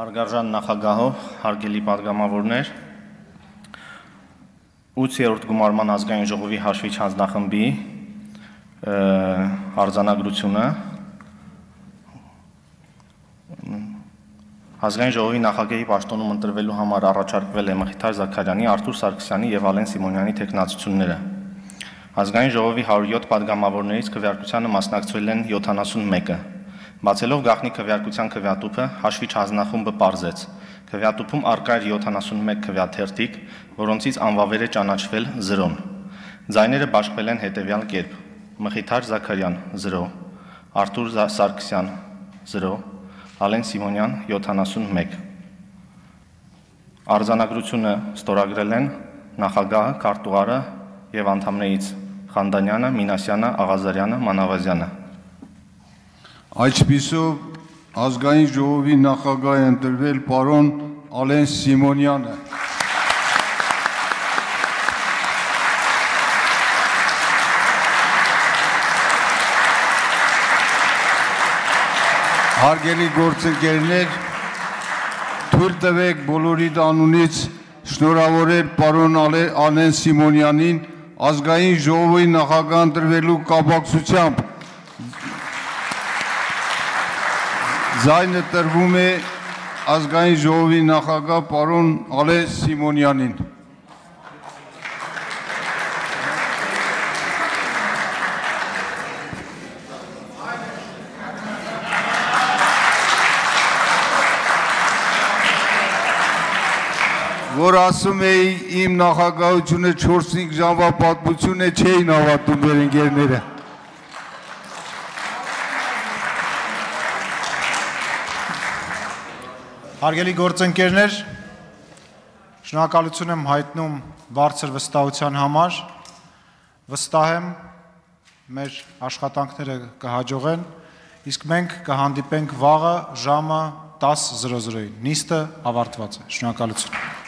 Հարգարժան նախագահով, հարգելի պատգամավորներ, 8-րդ գումարման ազգային ժողովի հաշվիչ հանձնախմբի արձանագրությունը ազգային ժողովի նախագահի պաշտոնում ընտրվելու համար առաջարկվել է Մխիթար Զաքարյանի, Արթուր Սարգսյանի եւ Ալեն Սիմոնյանի թեկնածությունները։ Ազգային ժողովի 107 պատգամավորներից քվեարկությանը մասնակցել են 71-ը։ Բացելով գաղտնի քվեարկության քվեատուփը, հաշվիչ հանձնախումբը պարզեց. քվեատուփում առկա էր 71 քվեաթերթիկ, որոնցից անվավեր է ճանաչվել 0-ն։ Ձայները բաշխվել են հետևյալ կերպ. Մխիթար Զաքարյան 0, Արթուր Սարգսյան 0, Ալեն Սիմոնյան 71։ Արձանագրությունը ստորագրել են նախագահը, քարտուղարը եւ անդամներից Խանդանյանը, Մինասյանը, Աղազարյանը, Մանավազյանը։ Այսպիսով ազգային ժողովի նախագահ է ընտրվել պարոն Ալեն Սիմոնյանը։ Հարգելի գործընկերներ, թույլ տվեք բոլորիդ անունից շնորհավորել պարոն Ալեն Սիմոնյանին ազգային ժողովի նախագահ ընտրվելու կապակցությամբ։ Ձայնը տրվում է ազգային ժողովի նախագահ պարոն Ալեն Սիմոնյանին։ Որ ասում էի իմ նախագահությունը 4-5 ժամվա պատմություն է, չէին հավատում մեր ընկերները։ Հարգելի գործընկերներ, շնորհակալություն եմ հայտնում բարձր վստահության համար, վստահ եմ մեր աշխատանքները կհաջողեն, իսկ մենք կհանդիպենք վաղը ժամը 10:00-ին, նիստը ավարտված է, շնորհակալություն։